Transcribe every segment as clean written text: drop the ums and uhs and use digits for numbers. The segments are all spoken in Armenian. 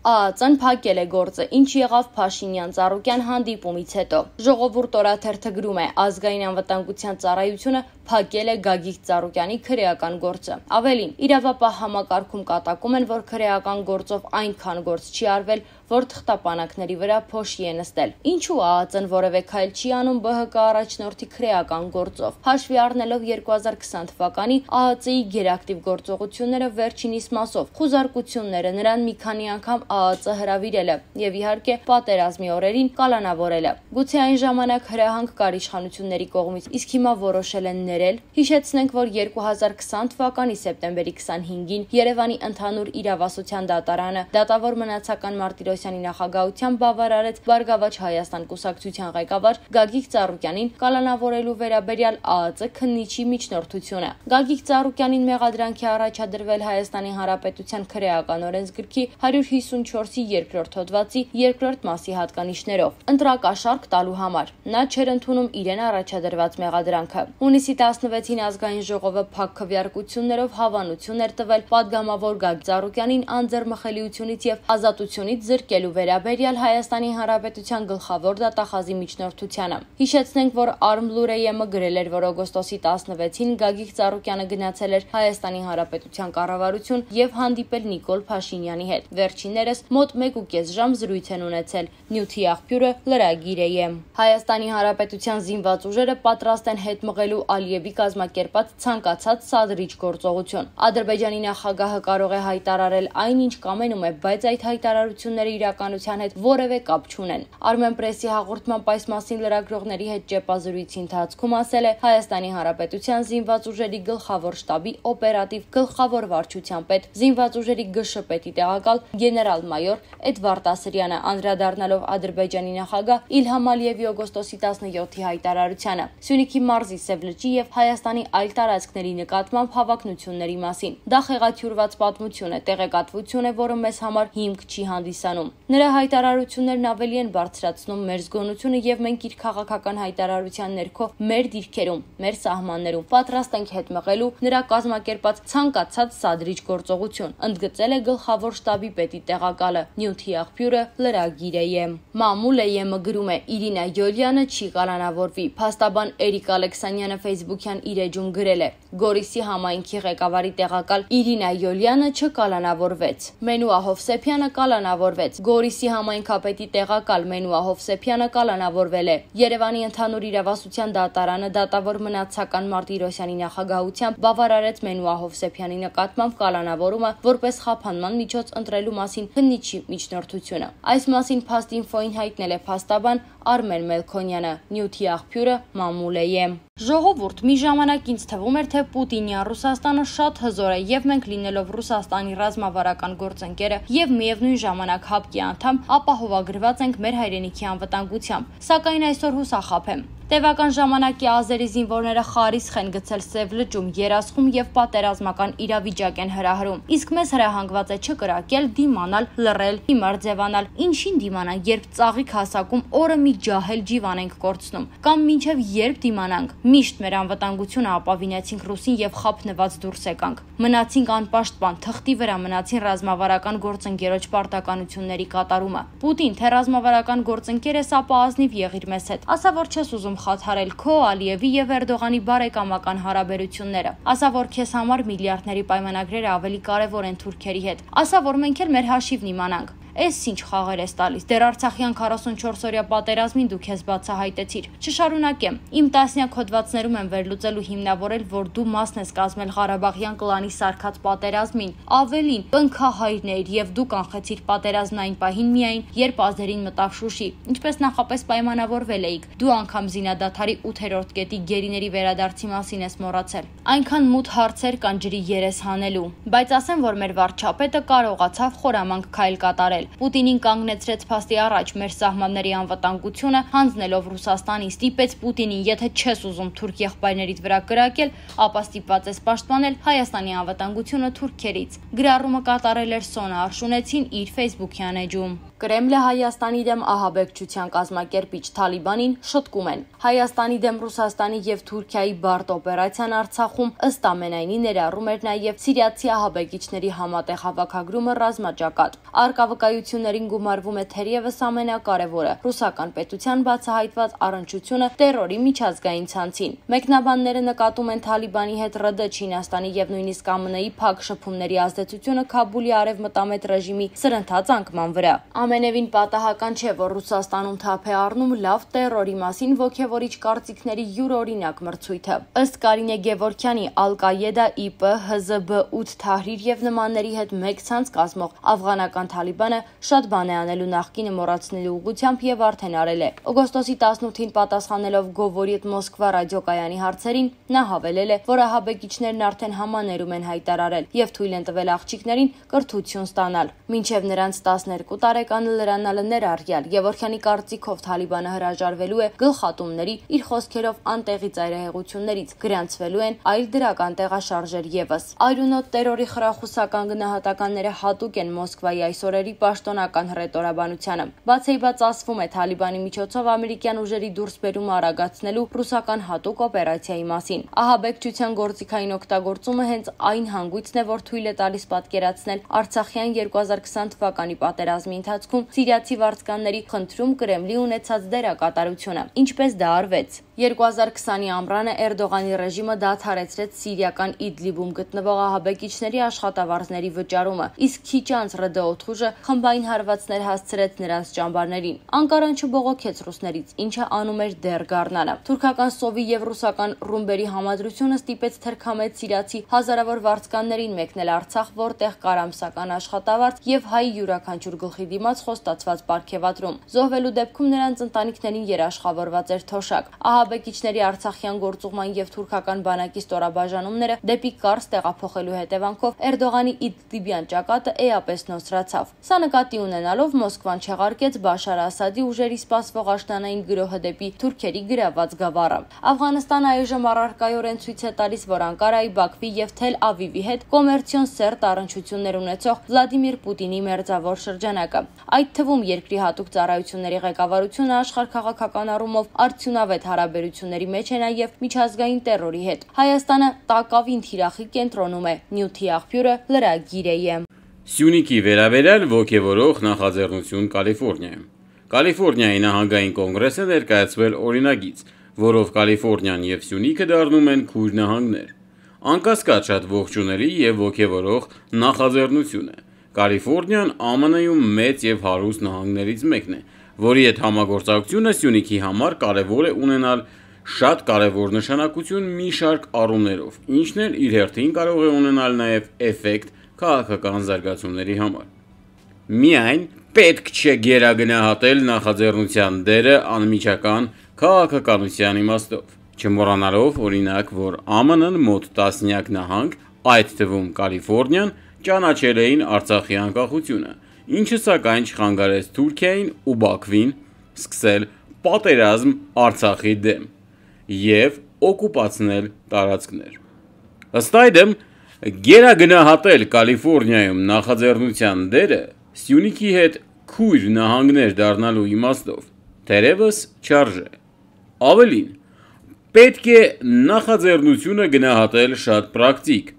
ԱԱԾ-ն փակել է գործը, ինչ եղավ Փաշինյան-Ծառուկյան հանդիպումից հետո։ Ժողովուրդ օրաթերթը գրում է, ազգային անվտանգության ծառայությունը փակել է Գագիկ Ծառուկյանի քրեական գործը։ Ավելին, իրավապահ համակարգում կատակում են, որ քրեական գործով այնքան գործ չի արվել, որ թղթապանակների վրա փոշի է նստել։ Ինչու ԱԱԾ-ն որևէ քայլ չի անում ԲՀԿ առաջնորդի քրեական գործով։ Հաշվի առնելով 2020 թվականի ԱԱԾ-ի գերակտիվ գործողությունները վերջինիս մասով, խուզարկությունները, նրան մի քանի անգամ ԱԱԾ հրավիրելը եւ իհարկե պատերազմի օրերին կալանավորելը։ Գուցե այն ժամանակ հրահանգ կար իշխանությունների կողմից, իսկ հիմա որոշել են ներել։ Հիշեցնենք, որ 2020 թվականի սեպտեմբերի 25-ին Երևանի ընդհանուր իրավասության դատարանը դատավոր մնացական Մարտիրոսյանի նախագահությամբ բավարարեց Բարգավաճ Հայաստան կուսակցության ղեկավար Գագիկ Ծառուկյանին կալանավորելու վերաբերյալ ԱԱԾ քննիչի միջնորդությունը։ Գագիկ Ծառուկյանին մեղադրանքի առաջադրվել Հայաստանի Հանրապետության քրեական օրենսգրքի 154-ի երկրորդ հոդվածի երկրորդ մասի հատկանիշներով ընտրակաշառք տալու համար։ Նա չէր ընդունում իրեն առաջադրված մեղադրանքը։ Հունիսի 16-ին ազգային ժողովը փակ քվեարկություններով հավանություն էր տվել պատգամավոր Գագիկ Ծառուկյանին անձեռմխելիությունից եւ ազատությունից զրկելու վերաբերյալ Հայաստանի Հանրապետության գլխավոր դատախազի միջնորդությանը։ Հիշեցնենք, որ Արմլուրեյեմը գրել էր, որ օգոստոսի 16-ին Գագիկ Ծառուկյանը գնացել էր Հայաստանի Հանրապետության կառավարություն եւ հանդիպել Նիկոլ Փաշինյանի հետ։ Վերջիններս մոտ 1.5 ժամ զրույց են ունեցել։ Նյութի աղբյուրը լրագիր է։ Հայաստանի Հանրապետության զինված ուժերը պատրաստ են հետ մղելու Ալիևի կազմակերպած ցանկացած սադրիչ գործողություն։ Ադրբեջանի նախագահը կարող է հայտարարել այնինչ կամենում է, բայց այդ հայտարարությունները իրականության հետ որևէ կապ չունեն։ Armenpress-ի հաղորդմամբ այս մասին լրագրողների հետ ճեպազրույցի ընթացքում ասել է Հայաստանի Հանրապետության զինված ուժերի գլխավոր շտաբի օպերատիվ գլխավոր վարչության պետ, զինված ուժերի ԳՇ-պետի տեղակալ գեներալ-մայոր Էդվարդ Ասրյանը, անդրադառնալով Ադրբեջանի նախագահ Իլհամ Ալիևի օգոստոսի 17-ի հայտարարությանը Սյունիքի մարզի Սևլճի եւ Հայաստանի այլ տարածքների նկատմամբ հավակնությունների մասին։ Դա խեղաթյուրված պատմություն է, տեղեկատվություն է, որը մեզ համար հիմք չի հանդիսանում։ Նրա հայտարարություններն ավելի են բարձրացնում մեր զգոնությունը եւ մենք իր քաղաքական հայտարարության ներքո մեր դիրքերում, մեր սահմաններում պատրաստ ենք հետ մղելու նրա կազմակերպած ցանկացած սադրիչ գործողություն, ընդգծել է գլխավոր շտաբի պետի տեղակալը։ Նյութի աղբյուրը լրագիր է։ Մամուլ-ը գրում է Իրինա Յոլյանը չի կալանավորվի։ Փաստաբան Էրիկ Ալեքսանյանը Facebook-յան իր էջում գրել է. Գորիսի համայնքի ղեկավարի տեղակալ Իրինա Յոլյանը չկալանավորվեց։ Մենուա Հովսեփյանը կալանավորվեց։ Գորիսի համայնքապետի տեղակալ Մենուա Հովսեփյանը կալանավորվել է։ Երևանի ընդհանուր իրավասության դատարանը դատավոր մնացական Մարտիրոսյանի նախագահությամբ բավարարեց Մենուա Հովսեփյանի նկատմամբ կալանավորումը որպես խափանման միջոց ընտրելու մասին քննիչի միջնորդությունը։ Այս մասին Փաստինֆոին հայտնել է փաստաբան Արմեն Մելքոնյանը։ Նյութի աղբյուրը Մամուլ է։ Ժողովուրդ, մի ժամանակ ինձ թվում էր, թե Պուտինյան Ռուսաստանը շատ հզոր է եւ մենք լինելով Ռուսաստանի ռազմավարական գործընկերը եւ միևնույն ժամանակ ՀԱՊԿ-ի անդամ ապահովագրված ենք մեր հայրենիքի անվտանգությամբ։ Սակայն այսօր հուսախաբ եմ։ Տևական ժամանակի ազերի զինվորները խարիսխ են գցել Սև լճում, Երասխում եւ պատերազմական իրավիճակ են հրահրում։ Իսկ մեզ հրահանգված է չկրակել, դիմանալ, լռել, հիմար ձևանալ։ Ինչին դիմանանք, երբ ծաղիկ հասակում օրը մի ջահել ջիվան ենք կորցնում, կամ մինչև երբ դիմանանք։ Միշտ մեր անվտանգությունը ապավինեցինք ռուսին եւ խափնված դուրս եկանք։ Մնացինք անպաշտպան, թղթի վրա մնացին ռազմավարական գործընկերոջ պարտականությունների կատարումը։ Պուտին, թե ռազմավարական գործընկեր ես, ապա ազնիվ եղիր մեզ հետ։ Ասա, որ չես ուզում խաթարել քո, Ալիևի եւ Էրդողանի բարեկամական հարաբերությունները։ Ասա, որ քեզ համար միլիարդների պայմանագրերը ավելի կարեւոր են թուրքերի հետ։ Ասա, որ մենք էլ մեր հաշիվն իմանանք։ Էս ինչ խաղեր ես տալիս։ Դեռ Արցախյան 44-օրյա պատերազմին դու քեզ բացահայտեցիր։ Չշարունակեմ։ Իմ տասնյակ հոդվածներում եմ վերլուծել ու հիմնավորել, որ դու մասն ես կազմել Ղարաբաղյան կլանի սարքած պատերազմին։ Ավելին, կնքահայրն էիր եւ դու կանխեցիր պատերազմն այն պահին միայն, երբ ազերին մտավ Շուշի։ Ինչպես նախապես պայմանավորվել էիք։ Դու անգամ զինադադարի 8-րդ կետի գերիների վերադարձի մասին ես մոռացել։ Այնքան մութ հարցեր կան ջրի երես հանելու։ Բայց ասեմ, որ մեր վարչապետը կարողացավ խորամանկ քայլ կատարել։ Պուտինին կանգնեցրեց փաստի առաջ մեր սահմանների անվտանգությունը, հանձնելով Ռուսաստանին, ստիպեց Պուտինին, եթե չես ուզում թուրք եղբայրներիդ վրա կրակել, ապա ստիպված ես պաշտպանել Հայաստանի անվտանգությունը թուրքերից։ Գրառումը կատարել էր Սոնա Արշունեցին իր Facebook-յան էջում։ Կրեմլը Հայաստանի դեմ ահաբեկչության կազմակերպիչ Թալիբանին շտկում են։ Հայաստանի դեմ Ռուսաստանի եւ Թուրքիայի բարդ օպերացիան Արցախում ըստ ամենայնի ներառում էր նաեւ սիրիացի ահաբեկիչների համատեղ հավաքագրումը ռազմաճակատ։ Արկավկայ ծառայություններին գումարվում է թերևս ամենակարևորը՝ ռուսական պետության բացահայտված առնչությունը տերորի միջազգային ցանցին։ Մեկնաբանները նկատում են Թալիբանի հետ ՌԴ, Չինաստանի եւ նույնիսկ ԱՄՆ-ի փակ շփումների ազդեցությունը Քաբուլի արևմտամետ ռեժիմի սրընթաց անկման վրա։ Ամենևին պատահական չէ, որ Ռուսաստանում թափ է առնում լավ տերորի մասին ոգևորիչ կարծիքների յուրօրինակ մրցույթը։ Ըստ Կարինե Գևորգյանի, Ալ-Կաեդա, ԻՊ, ՀԶԲ-8 Թահրիր եւ նմանների հետ մեկ ցանց կազմող աֆղանական Թալիբանը շատ բան է անելու նախկինը մոռացնելու ուղղությամբ եւ արդեն արել է։ Օգոստոսի 18-ին պատասխանելով Գովորիետ Մոսկվա ռադիոկայանի հարցերին, նա հավելել է, որ ահաբեկիչներն արդեն համաներում են հայտարարել եւ թույլ են տվել աղջիկներին կրթություն ստանալ։ Մինչեւ նրանց 12 տարեկանը լրանալը ներառյալ Գևորգյանի կարծիքով Թալիբանը հրաժարվելու է գլխատումների, իր խոսքերով անտեղի ծայրահեղություններից, գրանցվելու են այլ դրական տեղաշարժեր եւս։ Այրունոտ տերորի խրախուսական գնահատականները հատուկ են Մոսկվայի այսօրերի պաշտոնական հռետորաբանությանը։ Բացեիբաց ասվում է Թալիբանի միջոցով ամերիկյան ուժերի դուրսբերումը արագացնելու ռուսական հատուկ օպերացիայի մասին։ Ահաբեկչության գործիքային օգտագործումը հենց այն հանգույցն է, որ թույլ է տալիս պատկերացնել Արցախյան 2020 թվականի պատերազմի ընթացքում սիրիացի վարձկանների խնդրում Կրեմլի ունեցած դերակատարությունը։ Ինչպես դա արվեց։ 2020-ի ամռանը Էրդողանի ռեժիմը դադարեցրեց սիրիական Իդլիբում գտնվող ահաբեկիչների աշխատավարձների վճարումը, իսկ քիչ անց ՌԴ օդուժը խմբային հարվածներ հասցրեց նրանց ճամբարներին։ Անկարան չբողոքեց ռուսներից, ինչը անում էր դեռ գարնանը։ Թուրքական սովի եւ ռուսական ռումբերի համադրությունը ստիպեց թրքամետ սիրիացի հազարավոր վարձկաններին մեկնել Արցախ, որտեղ կար ամսական աշխատավարձ եւ հայ յուրաքանչյուր գլխի դիմաց խոստացված պարգևատրում։ Զոհվելու դեպքում նրանց ընտանիքներին երաշխավորված էր թոշակ։ Ահաբեկիչների Արցախյան գործուղման եւ թուրքական բանակի ստորաբաժանումները դեպի Կարս տեղափոխելու հետևանքով Էրդողանի Իդլիբյան ճակատը էապես նոսրացավ։ Սա նկատի ունենալով Մոսկվան չեղարկեց Բաշար Ասադի ուժերի սպասվող աշնանային գրոհը դեպի թուրքերի գրաված գավառը։ Աֆղանստանը այժմ առարկայորեն ցույց է տալիս, որ Անկարայի, Բաքվի եւ Թել Ավիվի հետ կոմերցիոն սերտ առնչություններ ունեցող Վլադիմիր Պուտինի մերձավոր շրջանակը։ Այդ թվում երկրի հատուկ ծառայությունների ղեկավարությունը աշխարհքաղաքական առումով արդյունավետ հարաբերությունների մեջ է նաև միջազգային տերորի հետ։ Հայաստանը տակավին թիրախի կենտրոնում է։ Նյութի աղբյուրը լրագիր է։ Սյունիքի վերաբերյալ ոգևորող նախաձեռնություն Կալիֆոռնիայում։ Կալիֆոռնիայի նահանգային կոնգրեսը ներկայացվել օրինագիծ, որով Կալիֆոռնիան եւ Սյունիքը դառնում են քույր նահանգներ։ Անկասկած շատ ողջունելի եւ ոգևորող նախաձեռնություն է։ Կալիֆոռնիան ԱՄՆ-ում մեծ եւ հարուստ նահանգներից մեկն է, որի հետ համագործակցությունը Սյունիքի համար կարևոր է ունենալ շատ կարևոր նշանակություն մի շարք առումներով, ինչն էլ իր հերթին կարող է ունենալ նաեւ էֆեկտ քաղաքական զարգացումների համար։ Միայն պետք չէ գերագնահատել նախաձեռնության դերը անմիջական քաղաքականության իմաստով, չմոռանալով օրինակ, որ ԱՄՆ-ն մոտ տասնյակ նահանգ, այդ թվում Կալիֆոռնիան, ճանաչել էին Արցախի անկախությունը, ինչը սակայն չխանգարեց Թուրքիային ու Բաքվին սկսել պատերազմ Արցախի դեմ եւ օկուպացնել տարածքներ։ Ըստ այդմ, գերագնահատել Կալիֆոռնիայում նախաձեռնության դերը Սյունիքի հետ քույր նահանգներ դառնալու իմաստով թերևս չարժե։ Ավելին, պետք է նախաձեռնությունը գնահատել շատ պրակտիկ,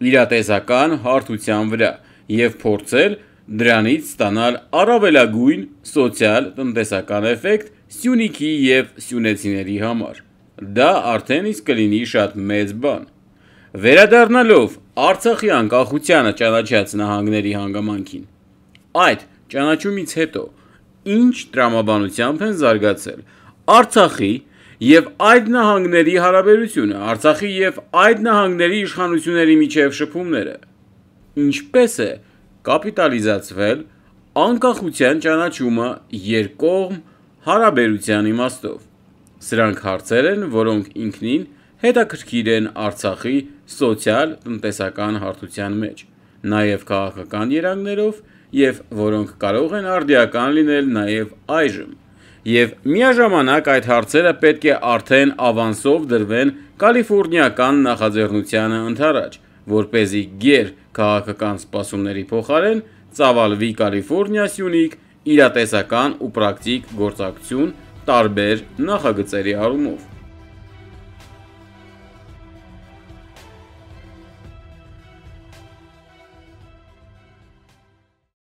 իրատեսական հարթության վրա եւ փորձել դրանից ստանալ առավելագույն սոցիալ-տնտեսական էֆեկտ Սյունիքի եւ սյունեցիների համար։ Դա արդեն իսկ կլինի շատ մեծ բան։ Վերադառնալով Արցախի անկախությանը ճանաչած նահանգների հանգամանքին, այդ ճանաչումից հետո ինչ տրամաբանությամբ են զարգացել Արցախի եւ այդ նահանգների հարաբերությունը, Արցախի եւ այդ նահանգների իշխանությունների միջև շփումները, ինչպես է կապիտալիզացվել անկախության ճանաչումը երկկողմ հարաբերության իմաստով։ Սրանք հարցեր են, որոնք ինքնին հետաքրքիր են Արցախի սոցիալ-տնտեսական հարթության մեջ, նաև քաղաքական երանգներով եւ որոնք կարող են արդիական լինել նաև այժմ։ Եվ միաժամանակ այդ հարցերը պետք է արդեն ավանսով դրվեն կալիֆոռնիական նախաձեռնությանը ընդառաջ, որպեսզի գեր քաղաքական սպասումների փոխարեն ծավալվի Կալիֆոռնիա-Սյունիք իրատեսական ու պրակտիկ գործակցություն տարբեր նախագծերի առումով։